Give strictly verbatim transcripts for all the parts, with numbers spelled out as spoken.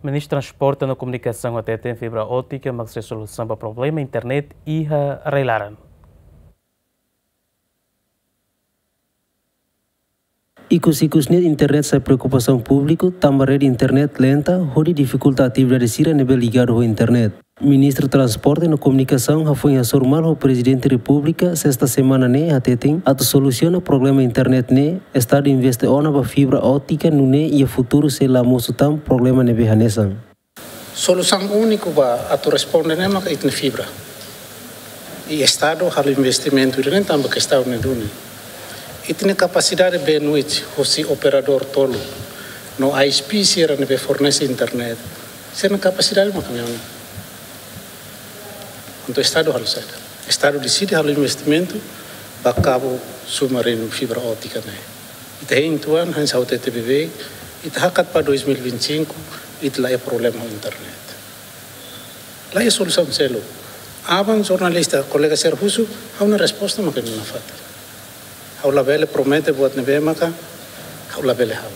Ministru Transporte no Komunikasaun hateten fibra ótika mak sai solusaun ba problema internet iha rai-laran. Ikus-ikus ne'e internet sai preokupasaun públiku, tanba rede internet lenta hodi difikulta atividade sira ne'ebé ligadu ho internet. Ministru Transporte no Komunikasaun hafoin hasoru malu ho Prezidente Repúblika sesta semana ne'e hateten, atu solusiona problema internet ne'e, Estadu investe ona ba fibra ótika nune'e iha futuru sei la mosu tan problema ne'ebé hanesan. Solusaun úniku ba atu responde ne'e maka ita-nia fibra. I Estadu halo investimentu ida-ne'e tanba ke Estadu nia duni. Ita-nia kapasidade bandwidth hosi operadór tolu no I S P sira ne'ebé fornese internet, sira-nia kapasidade maka ne'e ona. Entaun Estadu halo saida? Estadu deside halo investimentu ba kabu submarinu fibra ótika ne'e. Ita hein tuan, hanesan ha'u hatete beibeik, ita hakat ba dois mil e vinte e cinco, ita la iha problema ho internet. La iha solusaun seluk. Aban jornalista, kolega sira husu, ha'u-nia resposta maka ne'e nafatin. Ha'u labele promete buat ne'ebé maka ha'u labele halo.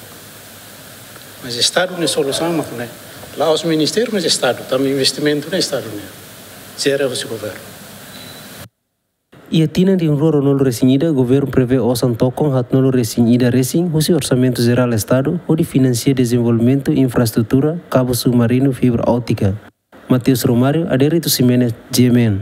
Mas Estadu nia solusaun maka ne'e. La'ós ministériu, mas Estadu, tanba investimentu ne'e Estadu nian. Jere husi governu. Iha tinan rihun rua ruanulu resin ida, governu prevee osan tokon haatnulu resin ida resin husi Orsamentu Jerál Estadu hodi finansia dezenvolvimentu infraestrutura kabu submarinu fibra ótika. Mateus Romário, Adérito Ximenes, G M N.